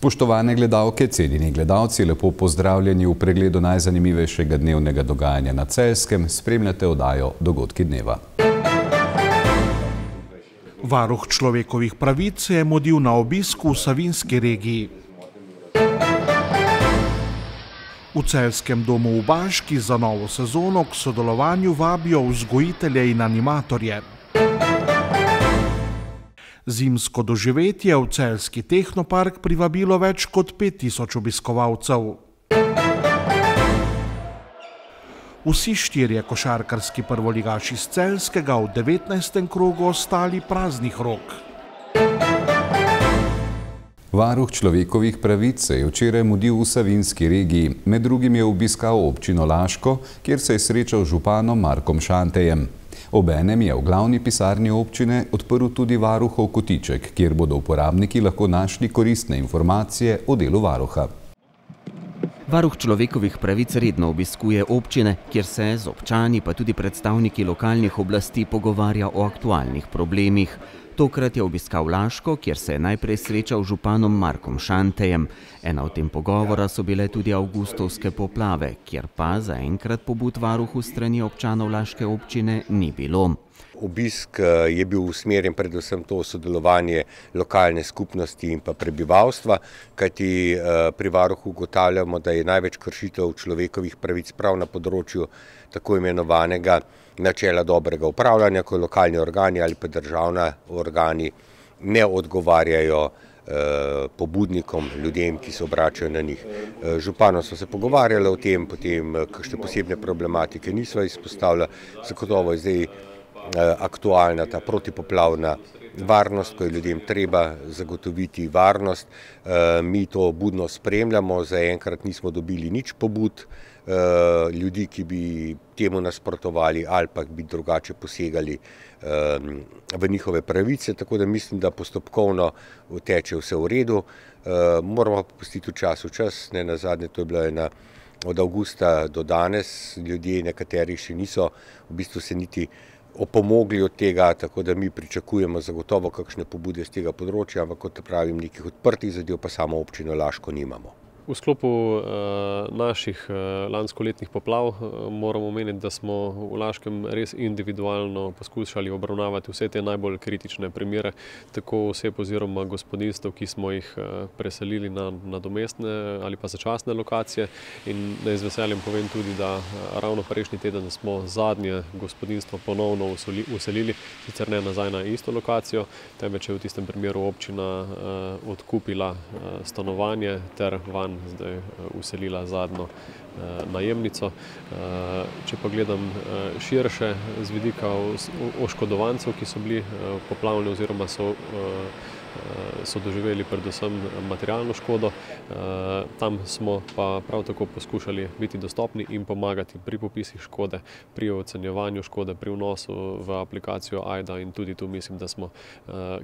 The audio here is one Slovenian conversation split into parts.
Spoštovane gledalke, cenjeni gledalci, lepo pozdravljeni v pregledu najzanimivejšega dnevnega dogajanja na Celjskem. Spremljate oddajo Dogodki dneva. Varuh človekovih pravic se je mudil na obisku v Savinjski regiji. V Celjskem domu v Baški za novo sezono k sodelovanju vabijo vzgojitelje in animatorje. Zimsko doživetje v celjski tehnopark privabilo več kot 5000 obiskovalcev. Vsi štirje košarkarski prvoligaši iz Celjskega v 19. krogu ostali praznih rok. Varuh človekovih pravic se je včeraj mudil v Savinjski regiji. Med drugim je obiskal občino Laško, kjer se je srečal z županom Markom Šantejem. Obenem je v glavni pisarni občine odprl tudi varuhov kotiček, kjer bodo uporabniki lahko našli koristne informacije o delu varuha. Varuh človekovih pravic redno obiskuje občine, kjer se z občani pa tudi predstavniki lokalnih oblasti pogovarja o aktualnih problemih. Tokrat je obiskal Laško, kjer se je najprej srečal z županom Markom Šantejem. Ena od tem pogovora so bile tudi avgustovske poplave, kjer pa zaenkrat pobud varuhu strani občanov Laške občine ni bilo. Obisk je bil usmerjen predvsem to sodelovanje lokalne skupnosti in pa prebivalstva, kajti pri varuhu ugotavljamo, da je največ kršitev človekovih pravic prav na področju tako imenovanega načela dobrega upravljanja, ko lokalni organi ali pa državni organi ne odgovarjajo pobudnikom, ljudem, ki se obračajo na njih. Županom smo se pogovarjali o tem, potem kakšne posebne problematike nismo izpostavili, zagotovo je zdaj aktualna ta protipoplavna varnost, ko je ljudem treba zagotoviti varnost. Mi to budno spremljamo, zaenkrat nismo dobili nič pobud ljudi, ki bi temu nasprotovali ali pa bi drugače posegali v njihove pravice, tako da mislim, da postopkovno teče vse v redu. Moramo pustiti v čas, ne nazadnje, to je bila ena od avgusta do danes, ljudje nekateri še niso v bistvu se niti opomogli od tega, tako da mi pričakujemo zagotovo kakšne pobude z tega področja, ampak kot pravim, nekih odprtih zadev pa samo občino Laško nimamo. V sklopu naših lanskoletnih poplav moramo omeniti, da smo v Laškem res individualno poskušali obravnavati vse te najbolj kritične primere, tako oseb oziroma gospodinjstev, ki smo jih preselili na nadomestne ali pa začasne lokacije. In naj z veseljem povem tudi, da ravno prejšnji teden smo zadnje gospodinjstvo ponovno uselili, sicer ne nazaj na isto lokacijo, temveč je v tistem primeru občina odkupila stanovanje ter vanj zdaj uselila zadnjo najemnico. Če pa gledam širše z vidika oškodovancev, ki so bili poplavljeni oziroma so doživeli predvsem materialno škodo, tam smo pa prav tako poskušali biti dostopni in pomagati pri popisih škode, pri ocenjevanju škode, pri vnosu v aplikacijo AJDA in tudi tu mislim, da smo,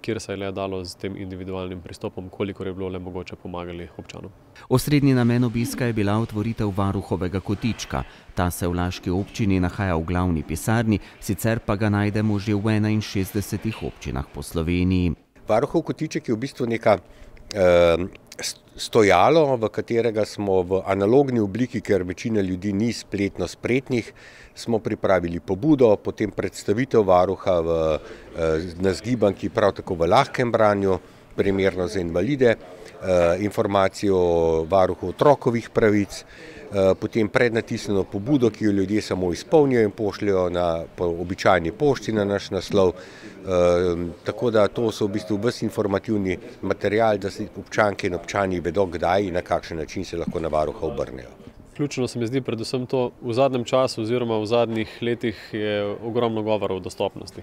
kjer se je le dalo z tem individualnim pristopom, kolikor je bilo le mogoče pomagali občanom. Osrednji namen obiska je bila otvoritev varuhovega kotička. Ta se v Laški občini nahaja v glavni pisarni, sicer pa ga najdemo že v 61 občinah po Sloveniji. Varuhov kotiček je v bistvu neka stojalo, v katerega smo v analogni obliki, ker večina ljudi ni spletno spretnih, smo pripravili pobudo, potem predstavitev varuha na zgibanki prav tako v lahkem branju, primerno za invalide, informacijo o varuhu otrokovih pravic, potem prednatisnjeno pobudo, ki jo ljudje samo izpolnijo in pošljajo po običajni pošti na naš naslov. Tako da to so v bistvu ves informativni material, da se občanke in občani vedo, kdaj in na kakšen način se lahko na varuha obrnejo. Ključno se mi zdi predvsem to, v zadnjem času oziroma v zadnjih letih je ogromno govora o dostopnosti.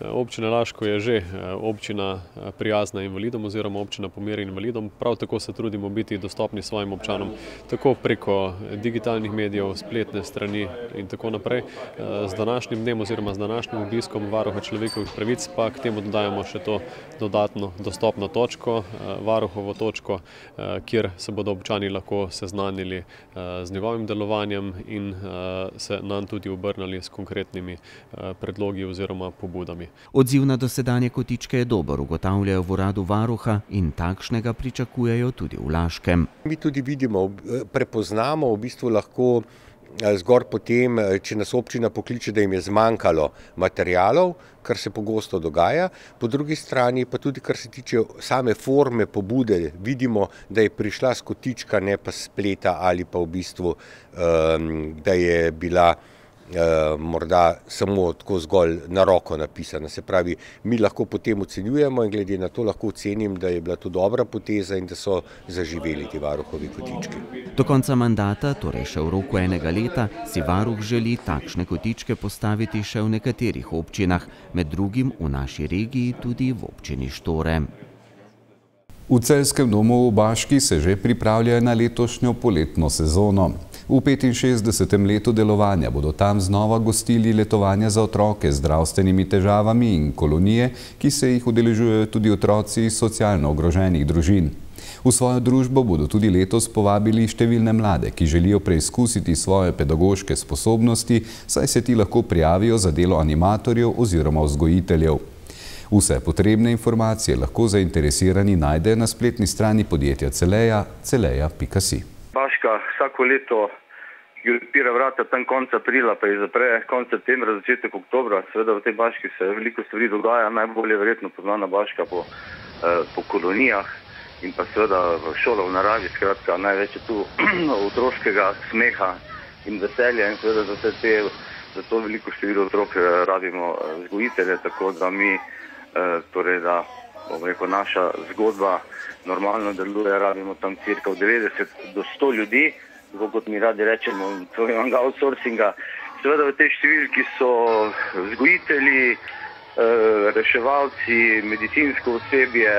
Občina Laško je že občina prijazna invalidom oziroma občina po meri invalidom. Prav tako se trudimo biti dostopni svojim občanom, tako preko digitalnih medijev, spletne strani in tako naprej. Z današnjim dnem oziroma z današnjim obiskom varuha človekovih pravic pa k temu dodajamo še to dodatno dostopno točko, varuhovo točko, kjer se bodo občani lahko seznanili z njegovim delovanjem in se nam tudi obrnili s konkretnimi predlogi oziroma pobudami. Odziv na dosedanje kotičke je dober, ugotavljajo v uradu varuha in takšnega pričakujejo tudi v Laškem. Mi tudi vidimo, prepoznamo v bistvu lahko zgolj potem, če nas občina pokliče, da jim je zmanjkalo materialov, kar se pogosto dogaja. Po drugi strani pa tudi, kar se tiče same forme pobude, vidimo, da je prišla s kotička, ne pa s spleta ali pa v bistvu, da je bila morda samo tako zgolj na roko napisana. Se pravi, mi lahko potem ocenjujemo in glede na to lahko ocenim, da je bila to dobra poteza in da so zaživeli ti varuhovi kotički. Do konca mandata, torej še v roku enega leta, si varuh želi takšne kotičke postaviti še v nekaterih občinah, med drugim v naši regiji tudi v občini Štore. V Celjskem domu v Baški se že pripravljajo na letošnjo poletno sezono. V 65. letu delovanja bodo tam znova gostili letovanja za otroke z zdravstvenimi težavami in kolonije, ki se jih udeležujejo tudi otroci iz socialno ogroženih družin. V svojo družbo bodo tudi letos povabili številne mlade, ki želijo preizkusiti svoje pedagoške sposobnosti, saj se ti lahko prijavijo za delo animatorjev oziroma vzgojiteljev. Vse potrebne informacije lahko zainteresirani najdejo na spletni strani podjetja Celeja, celeja.si. Baška vsako leto odpira vrata tam konec aprila, pa jih zapre konec septembra, začetek oktobra. Seveda v tej Baški se veliko stvari dogaja, najbolje verjetno poznana Baška po kolonijah in pa seveda v šolah v naravi. Skratka, največ je tu otroškega smeha in veselja in seveda za to veliko število otrok rabimo vzgojitelje, tako da mi, torej da bom rekel, naša zgodba normalno deluje, rabimo tam cirka 90 do 100 ljudi, tako kot mi radi rečemo, tvojega outsourcinga. Seveda v tej številki so vzgojitelji, reševalci, medicinsko osebje,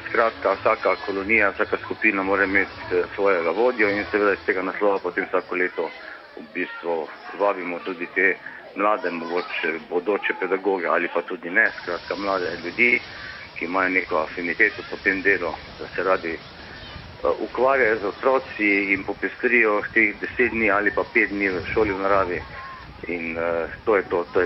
skratka vsaka kolonija, vsaka skupina mora imeti svojega vodjo in seveda iz tega naslova potem vsako leto v bistvu vabimo tudi te mlade, mogoče bodoče pedagoge ali pa tudi ne, skratka mlade ljudi, ki imajo neko afiniteto po tem delu, da se radi ukvarjajo z otroci in popestrijo teh 10 dni ali pa 5 dni v šoli v naravi. In to je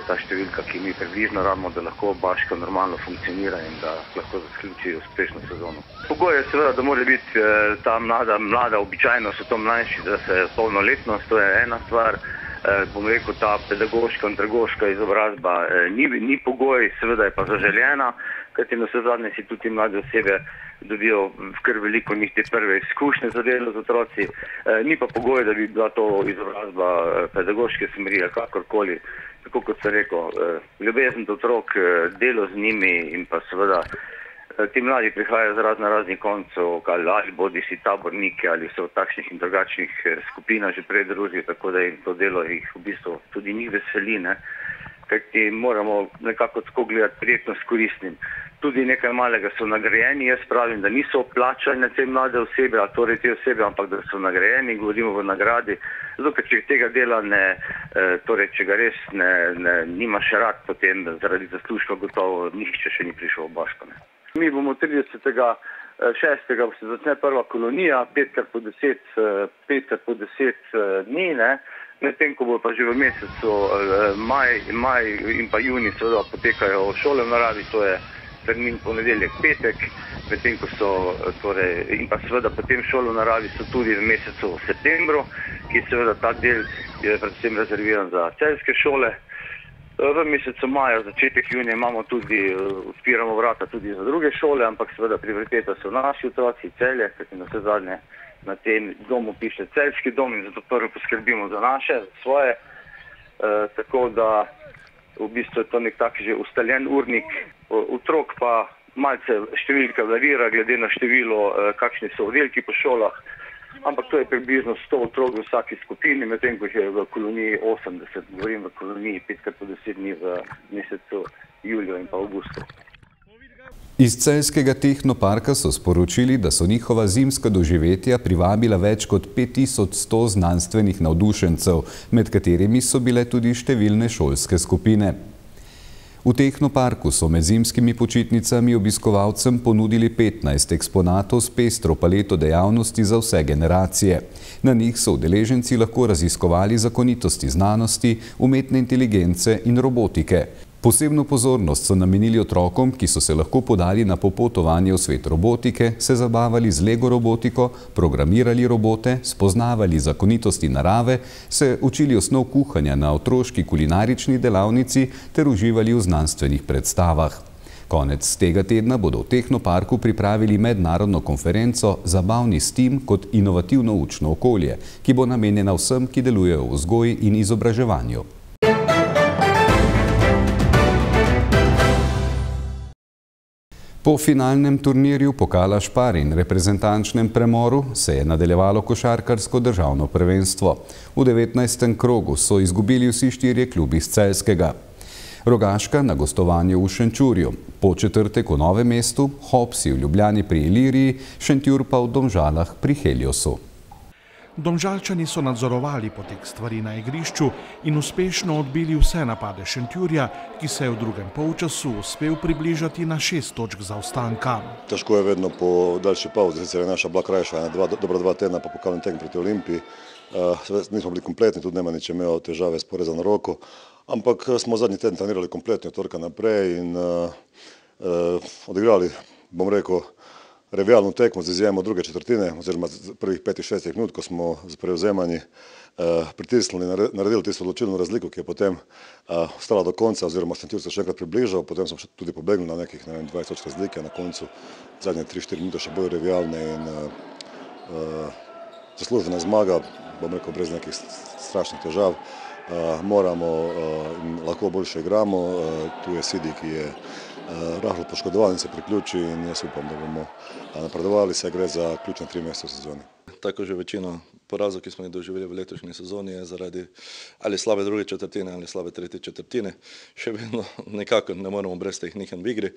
ta številka, ki mi približno rabimo, da lahko Baška normalno funkcionira in da lahko zaključi uspešno sezono. Pogoj je seveda, da mora biti ta mlada, običajno so to mlajši, da se polnoletnost, to je ena stvar. Bom rekel, ta pedagoška, andragoška izobrazba ni pogoj, seveda je pa zaželjena, kajti na vse zadnje si tudi mlade osebe dobijo kar veliko njih te prve izkušnje za delo z otroci. Ni pa pogoj, da bi bila to izobrazba pedagoške smeri ali kakorkoli. Tako kot sem rekel, ljubezen do otrok, delo z njimi in pa seveda ti mladi prihajajo z raznih koncev, ali bodi si taborniki ali so v takšnih in drugačnih skupinah že prej družijo, tako da jim to delo jih v bistvu tudi njih veseli, ne? Kajti moramo nekako tako gledati prijetno s koristnim. Tudi nekaj malega so nagrajeni, jaz pravim, da niso plačane te mlade osebe, a torej te osebe, ampak da so nagrajeni, govorimo v nagradi. Zato, ker če tega dela torej če ga res nimaš rad, potem zaradi zaslužka gotovo nihče še ni prišel v Baško. Mi bomo 30.6. se začne prva kolonija, 5x po 10 dni, ne? Medtem, ko bo pa že v mesecu maj in pa juni seveda potekajo šole v naravi, to je termin ponedeljek, petek, medtem ko so torej in pa seveda potem šole v naravi so tudi v mesecu septembru, ki seveda ta del je predvsem rezerviran za celjske šole. V mesecu maja, začetek junija imamo tudi, odpiramo vrata tudi za druge šole, ampak seveda prioriteta so naši otroci, Celje, kajti na vse zadnje na tem domu piše Celjski dom in zato prvo poskrbimo za naše, za svoje, tako da v bistvu je to nek tak že ustaljen urnik. Otrok pa malce številka varira glede na število, kakšni so oddelki po šolah, ampak to je približno 100 otrok v vsaki skupini, medtem ko je v koloniji 80, govorim v koloniji 5x po 10 dni v mesecu juliju in pa avgustu. Iz Celjskega tehnoparka so sporočili, da so njihova zimska doživetja privabila več kot 5100 znanstvenih navdušencev, med katerimi so bile tudi številne šolske skupine. V Tehnoparku so med zimskimi počitnicami obiskovalcem ponudili 15 eksponatov s pestro paleto dejavnosti za vse generacije. Na njih so udeleženci lahko raziskovali zakonitosti znanosti, umetne inteligence in robotike. Posebno pozornost so namenili otrokom, ki so se lahko podali na popotovanje v svet robotike, se zabavali z Lego robotiko, programirali robote, spoznavali zakonitosti narave, se učili osnov kuhanja na otroški kulinarični delavnici ter uživali v znanstvenih predstavah. Konec tega tedna bodo v Tehnoparku pripravili mednarodno konferenco Zabavni STEAM kot inovativno učno okolje, ki bo namenjena vsem, ki delujejo v vzgoji in izobraževanju. Po finalnem turnirju Pokala Špar in reprezentančnem premoru se je nadaljevalo košarkarsko državno prvenstvo. V 19. krogu so izgubili vsi 4 klubi iz Celjskega. Rogaška na gostovanju v Šenčurju, Podčetrtek v Novem mestu, Hopsi v Ljubljani pri Iliriji, Šentjur pa v Domžalah pri Heliosu. Domžalčani so nadzorovali potek stvari na igrišču in uspešno odbili vse napade Šentjurja, ki se je v drugem polčasu uspel približati na 6 točk zaostanka. Težko je vedno po daljši pauzi, sicer je naša bila krajša, dobra 2 tedna po pokalnem tekmu proti Olimpiji. Nismo bili kompletni, tudi Nemanič je imel težave s porezano roko, ampak smo zadnji teden trenirali kompletni od torka naprej in odigrali, bom rekel, revijalno tekmo z izjemo druge četrtine, oziroma prvih 5-6 minut, ko smo z prevzemanji pritisnili, naredili tisto odločilno razliko, ki je potem ostala do konca, oziroma Šentjur se še enkrat približal, potem smo tudi pobegnili na nekih 20 točk razlike, na koncu zadnje 3-4 minute še bolj revijalne in zaslužena zmaga, bom rekel, brez nekih strašnih težav. Moramo in lahko boljše igramo, tu je Sidi, ki je rahlo poškodovan in se priključi in jaz upam, da bomo napredovali, se gre za ključne 3 mesece v sezoni. Tako že večino porazov, ki smo jih doživeli v letošnji sezoni, je zaradi ali slabe druge četrtine ali slabe tretje četrtine. Še vedno nekako ne moremo brez teh nihanj v igri.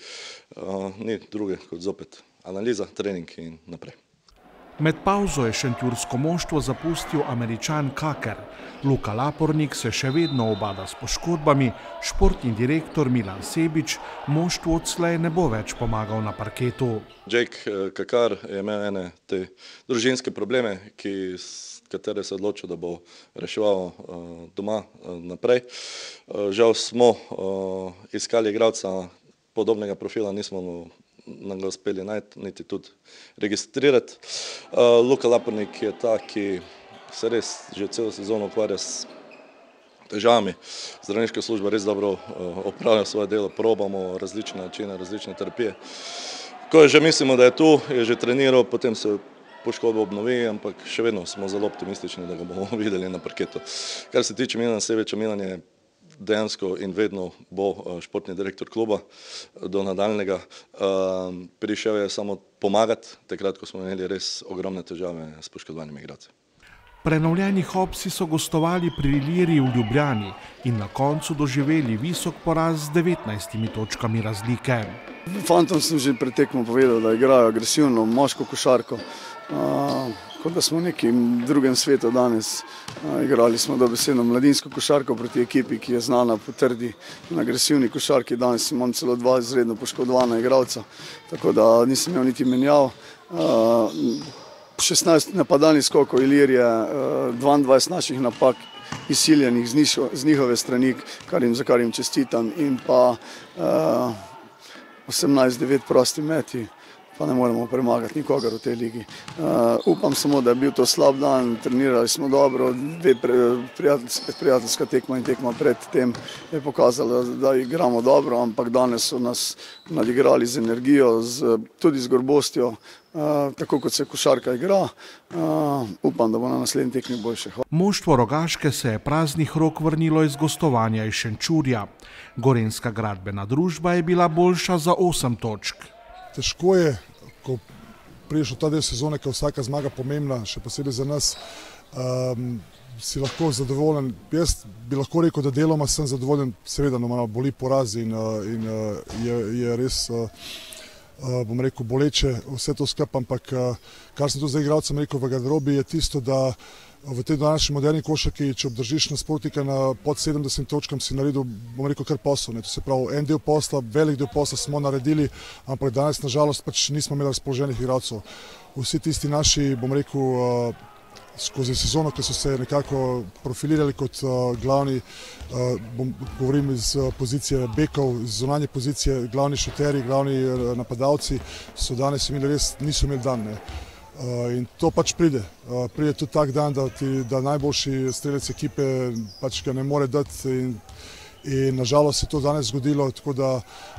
Ni druge kot zopet analiza, trening in naprej. Med pauzo je šentjursko moštvo zapustil Američan Kaker. Luka Lapornik se še vedno ubada s poškodbami, športni direktor Milan Sebič moštvu odslej ne bo več pomagal na parketu. Jake Kakar je imel ene te družinske probleme, katere se je odločil, da bo reševal doma naprej. Žal smo iskali igralca podobnega profila, nismo nam ga uspeli najti, niti tudi registrirati. Luka Lapornik je ta, ki se res že celo sezono ukvarja s težavami. Zdravniška služba res dobro opravlja svoje delo, probamo različne načine, različne terapije. Ko že mislimo, da je tu, je že treniral, potem se poškodba obnovi, ampak še vedno smo zelo optimistični, da ga bomo videli na parketu. Kar se tiče Milana Sebiča, Milan je dejansko in vedno bo športni direktor kluba do nadaljnega. Prišel je samo pomagati, takrat, ko smo imeli res ogromne težave s poškodovanimi igralci. Prenovljeni Hopsi so gostovali pri Iliriji v Ljubljani in na koncu doživeli visok poraz z 19 točkami razlike. Fantom sem že pred tekmo povedal, da igrajo agresivno, moško košarko. Kot da smo v nekem drugem svetu danes. Igrali smo dobesedno mladinsko košarko proti ekipi, ki je znana po trdi in agresivni košarki. Danes imam celo 2 izredno poškodovana igralca, tako da nisem imel niti menjav. 16 napadalnih skokov Ilirije, 22 naših napak izsiljenih z njihove strani, za kar jim čestitam, in pa 18-9 prosti meti. Pa ne moremo premagati nikogar v tej ligi. Upam samo, da je bil to slab dan, trenirali smo dobro, 2 prijateljska tekma in tekma pred tem je pokazala, da igramo dobro, ampak danes so nas nadigrali z energijo, tudi z gorbostjo, tako kot se košarka igra. Upam, da bo na naslednji tekmi boljše. Moštvo Rogaške se je praznih rok vrnilo iz gostovanja iz Šenčurja. Gorenjska gradbena družba je bila boljša za 8 točk. Težko je, ko prideš v ta del sezone, ko je vsaka zmaga pomembna, še posebej za nas, si lahko zadovoljen. Jaz bi lahko rekel, da deloma sem zadovoljen, seveda malo boli poraz in je res, bom rekel, boleče vse to skupaj, ampak kar sem tu za igralcem rekel v garderobi, je tisto, da v tej današnji moderni košarki, če obdržiš nasprotnika pod 70 točkam, si naredil, bom rekel, kar posel. To se pravi, en del posla, velik del posla smo naredili, ampak danes nažalost pač nismo imeli razpoloženih igralcev. Vsi tisti naši, bom rekel, skozi sezono, ki so se nekako profilirali kot glavni, govorim iz pozicije bekov, iz zunanje pozicije, glavni šuterji, glavni napadalci, so danes imeli res, niso imeli dan. In to pač pride. Pride tudi tak dan, da najboljši strelec ekipe pač ga ne more dati in nažalost se to danes zgodilo, tako da,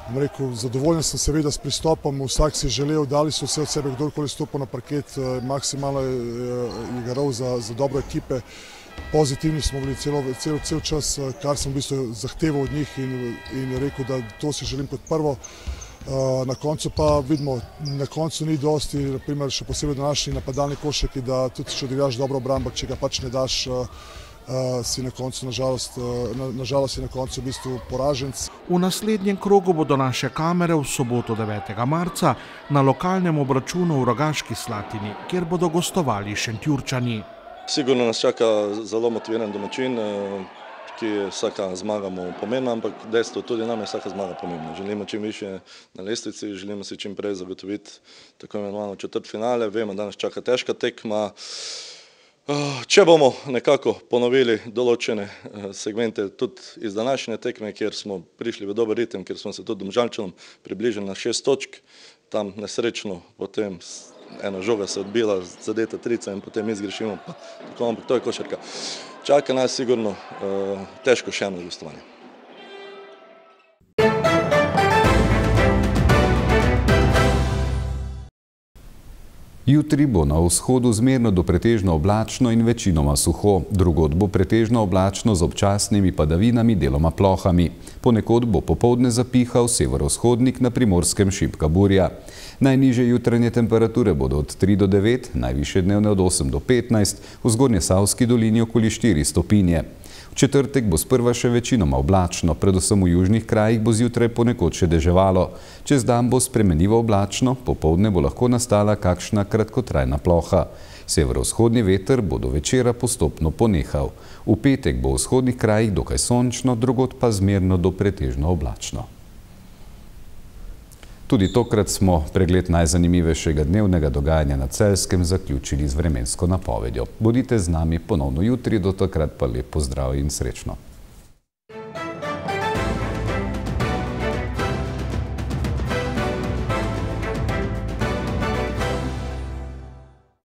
bom rekel, zadovoljen sem seveda s pristopom, vsak si želel, dali so vse od sebe, kdorkoli stopil na parket, maksimalno igral za dobro ekipe. Pozitivni smo bili cel čas, kar sem v bistvu zahteval od njih in rekel, da to si želim kot prvo. Na koncu pa vidimo, na koncu ni dosti, naprimer še posebej današnji napadalni košarki, da tudi če odigraš dobro obrambo, če ga pač ne daš, si na koncu, nažalost si na koncu v bistvu poraženc. V naslednjem krogu bodo naše kamere v soboto 9. marca na lokalnem obračunu v Rogaški Slatini, kjer bodo gostovali Šentjurčani. Sigurno nas čaka zelo motiviran domačin, ki je vsaka zmaga mu pomembna, ampak dejstvo tudi nam je vsaka zmaga pomembna. Želimo čim više na lestvici, želimo si čim prej zagotoviti tako imenovano četrtfinale. Vemo, da nas čaka težka tekma. Če bomo nekako ponovili določene segmente tudi iz današnje tekme, kjer smo prišli v dober ritem, kjer smo se tudi Domžalčanom približili na 6 točk, tam nesrečno potem ena žoga se odbila, zadeta trica in potem mi zgrešimo, ampak to je košarka. Čaka nas sigurno težko še eno gostovanje. Jutri bo na vzhodu zmerno do pretežno oblačno in večinoma suho. Drugod bo pretežno oblačno z občasnimi padavinami, deloma plohami. Ponekod bo popoldne zapihal severovzhodnik, na Primorskem šibka burja. Najnižje jutranje temperature bodo od 3 do 9, najvišje dnevne od 8 do 15, v Zgornjesavski dolini okoli 4 stopinje. V četrtek bo sprva še večinoma oblačno, predvsem v južnih krajih bo zjutraj ponekod še deževalo. Čez dan bo spremenljivo oblačno, popoldne bo lahko nastala kakšna kratkotrajna ploha. Severovzhodni veter bo do večera postopno ponehal. V petek bo v vzhodnih krajih dokaj sončno, drugod pa zmerno do pretežno oblačno. Tudi tokrat smo pregled najzanimivejšega dnevnega dogajanja na Celjskem zaključili z vremensko napovedjo. Bodite z nami ponovno jutri, do takrat pa lep pozdrav in srečno.